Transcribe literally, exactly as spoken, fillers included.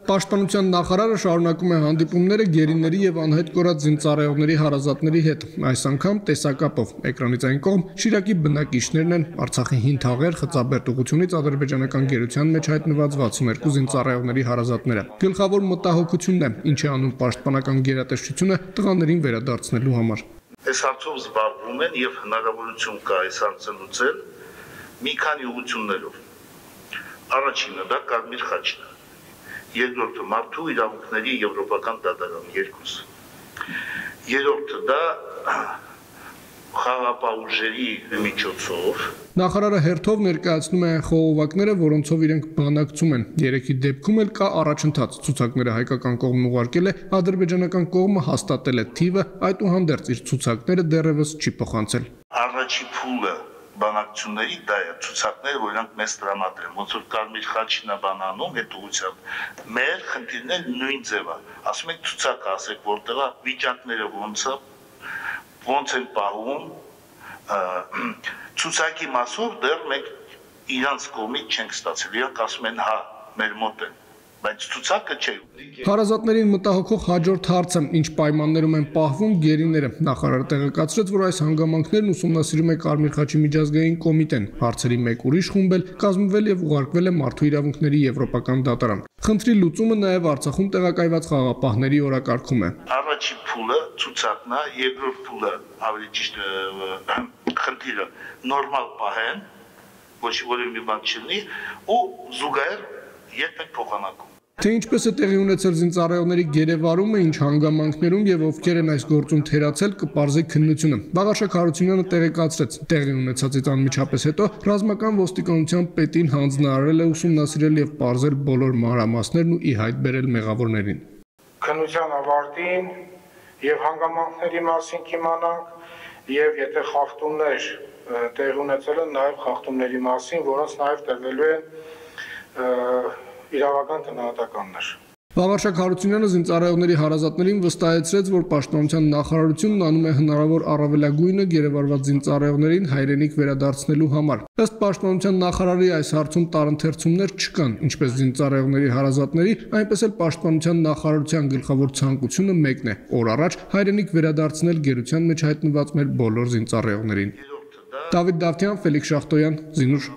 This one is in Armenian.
Պաշտպանության նախարարը շարունակում է հանդիպումները գերիների եւ անհետ կորած զինծառայողների հարազատների հետ, այս անգամ տեսակապով։ Էկրանից այն կողմ Շիրակի բնակիչներն են, Արցախի հին թաղեր, Խծաբերդ ուղությունից ադրբեջանական գերության մեջ հայտնված վաթսունհերկու զինծառայողների հարազատները։ Գլխավոր մտահոգությունն է, ինչ է անում պաշտպանական գերատեսչությունը տղաներին վերադարձնելու համար։ Այս հարցով զբաղվում են եւ հնարավորություն կա այս հարցը լուծել մի քանի ուղություններով։ Առաջինը դա Կարմիր խաչն է, երկրորդը մարդու իրավունքների եվրոպական դատարան երկուսը, երրորդը դա խաղաղապահ ուժերի միջոցով։ Նախարարը հերթով ներկայացնում է այն խողովակները, որոնցով իրենք բանակցում են։ Երեքի դեպքում էլ կա առաջընթաց։ Ցուցակները հայկական կողմն ուղարկել է, ադրբեջանական կողմը հաստատել է թիվը, այդուհանդերձ իր ցուցակները դեռևս չի փոխանցել։ Առաջի փուլը բանակցությունների դա է, ցուցակները, որ իրանք մեզ տրամադրեն, ոնց որ Կարմիր խաչն է բան անում, այդ ուղղությամբ մեր խնդիրները նույն ձև է։ Ասում եք ցուցակը, ասեք որտեղ է, վիճակները ոնց է, ոնց են պահում, ցուցակի մասով դեռ մենք իրանց կողմից չենք ստացել, իրանք ասում են հա, մեր մոտ են, բայց ցուցակը չէ։ Հարազատներին մտահոգող հաջորդ հարցը, ինչ պայմաններում են պահվում գերիները։ Նախարարը տեղեկացրեց, որ այս հանգամանքներն ուսումնասիրում է Կարմիր խաչի միջազգային կոմիտեն։ Հարցերի մեկ ուրիշ խումբ էլ կազմվել եւ ուղարկվել է Մարդու իրավունքների եվրոպական դատարան։ Խնդրի լուծումը նաեւ Արցախում տեղակայված խաղաղապահների օրակարգում է։ Առաջի փուլը ցուցակն է, երկրորդ փուլը ավելի ճիշտ խնդիրը նորմալ պահեն, ոչ որևէ մի բան չլինի, ու զուգահեռ երբեք փոխանակում։ Թե ինչպես է տեղի ունեցել զինծառայողների գերեվարումը, ինչ հանգամանքներում եւ ովքեր են այս գործում թերացել, կպարզի քննությունը։ Վաղարշակ Հարությունյանը տեղեկացրեց, տեղի ունեցածից անմիջապես հետո ռազմական ոստիկանության պետին հանձնարարել է ուսումնասիրել եւ պարզել բոլոր մանրամասներն ու ի հայտ բերել մեղավորներին։ Քննության ավարտին եւ հանգամանքների մասին կիմանանք եւ եթե խախտումներ տեղի ունեցել են, նաեւ խախտումների մասին, որոնց նաեւ տրվելու են իրավական գնահատականներ։ Վաղարշակ Հարությունյանը զինծառայողների հարազատներին վստահեցրեց, որ Պաշտպանության նախարարությունն անում է հնարավոր առավելագույնը գերեվարված զինծառայողներին հայրենիք վերադարձնելու համար։ Ըստ Պաշտպանության նախարարի այս հարցում տարընթերցումներ չկան, ինչպես զինծառայողների հարազատների, այնպես էլ Պաշտպանության նախարարության գլխավոր ցանկությունը մեկն է՝ օր առաջ հայրենիք վերադարձնել գերության մեջ հայտնված մեր բոլոր զինծառայողներին։ Դավիթ Դավթյան, Ֆելիքս Շախտոյան, Զինուշ։